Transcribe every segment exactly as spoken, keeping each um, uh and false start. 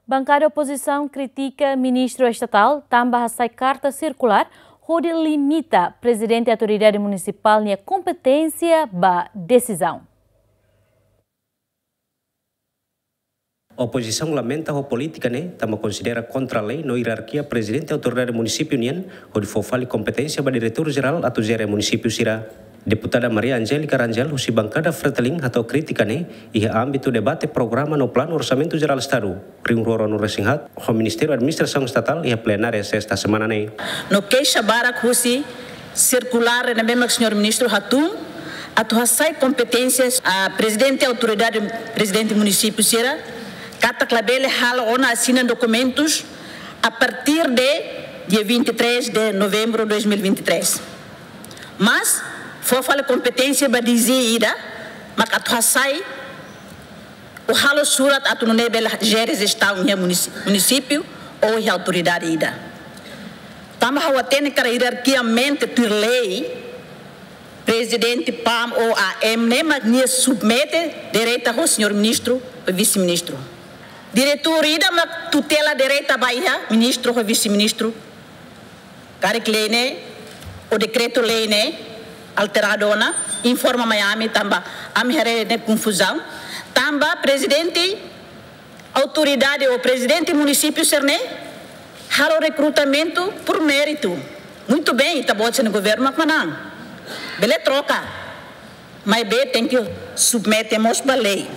Bankada opozisaun kritika ministru estatál tanba hasai karta sirkulár hodi limita Prezidente Autoridade Munisipál nia kompeténsia ba desizaun. Opozisaun lamenta ho polítika ne'e, tanba konsidera kontra lei no ierarkia Prezidente Autoridade Munisípiu nian, hodi fó fali kompeténsia ba diretór jerál atu jere munisípiu sira. Deputada Maria Angélica Rangel, husi bankada Fretilin, hato'o krítika ne'e iha ámbitu debate programa no planu Orsamentu Jerál Estadu rihun rua ruanulu-resin-haat ho Ministériu Administrasaun Estatál iha plenária sesta semana ne'e. No keixa barak husi sirkulár ne'ebé mak señór ministru hatún atu hasai kompeténsias a Prezidente Autoridade, Prezidente Munisípiu sira, katak labele halo ona asina dokumentus a partir de dia vinte e três de novembro de dois mil e vinte e três. Mas fó fali kompeténsia ba D G ida mak atu hasai ou halo surat atu nune'e bele jere jestaun iha munisi-, munisípiu ou iha autoridade ida. Tanba ha'u hatene katak ierarkiamente tuir lei, Prezidente PAM ou AM ne'e mak nia submete direta ho señór ministru, ho vise-ministru. Diretór ida mak tutela direta ba iha ministru ho vise-ministru. Karik lei ne'e, ou dekretu-lei ne'e alteradu ona, informa mai ami tanba ami haree ne'e konfuzaun. Tanba Prezidente Autoridade ou Prezidente Munisípiu sira-ne'e halo rekrutamentu por mérito. Muito bem, ita-boot sira-nia governu mak manán. Bele troka. Maibé tenke submete mós ba lei.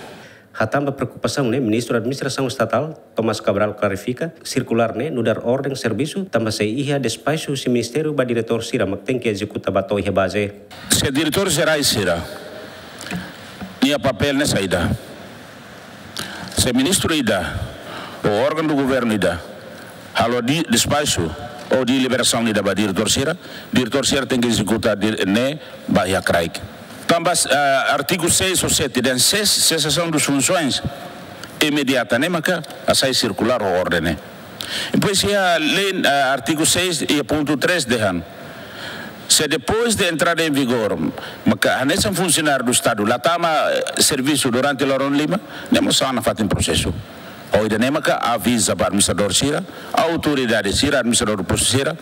Hatán ba preokupasaun ne'e, Ministru Administrasaun Estatál, Tomás Cabral, klarifika, sirkulár ne'e nu'udar orden servisu, tanba sei iha despaxu husi ministériu ba diretór sira mak tenke ezekuta ba to'o iha baze. Se diretór jerais sira-nia papél ne'e saida? Se ministru ida ou órgaun do governu ida halo di-, despaxu ou deliberasaun ida ba diretór sira, diretór sira tenke ezekuta di-, ne'e ba iha kraik. Tanba, ah, artigu seis ou sete dehan ses-, sesasaun dos funsoens imediata ne'e maka hasai sirkulár ou orden ne'e. Depois iha lei, ah, artigu seis iha pontu três dehan, se depois de entrada em vigor maka hanesan funsionáriu do Estadu la tama, eh, servisu durante loron lima, ne'e mós sai ona fatin prosesu. Ho ida-ne'e maka aviza ba administradór sira, autoridade sira, administradór postu sira,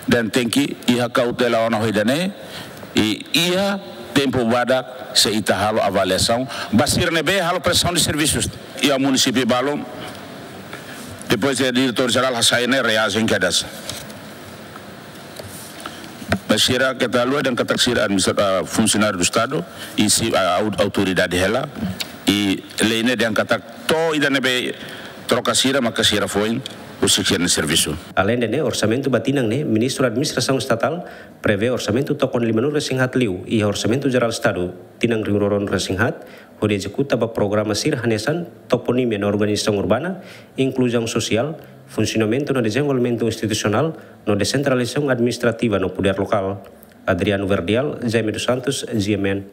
dehan tenke iha kautela ona ho ida-ne'e, i iha tempu badak sei ita halo avaliasaun ba sira ne'ebé halo prestasaun de servisus iha munisípiu balun. Depois de diretór jerál hasai ne'e reajen kedas. Ba sira keta haluha dehan katak sira administra-, ah, funsionáriu do Estadu, i si, ah, au-, autoridade hela, i lei ne'e dehan katak to'o ida ne'ebé troka sira maka sira foin husik sira-nia servisu. Aleinde ne'e, orsamentu ba tinan ne'e, Ministru Administrasaun Estatál prevee orsamentu tokon limanulu-resin-haat liu iha Orsamentu Jerál Estadu tinan rihun rua ruanulu-resin-haat, hodi ezekuta ba programa sira hanesan toponímia no organizasaun urbana, inkluzaun sosiál, funsionamentu no dezenvolvimentu institusionál, no desentralizasaun administrativa no podér lokál. Adriano Verdial, Jaime dos Santos, G M N.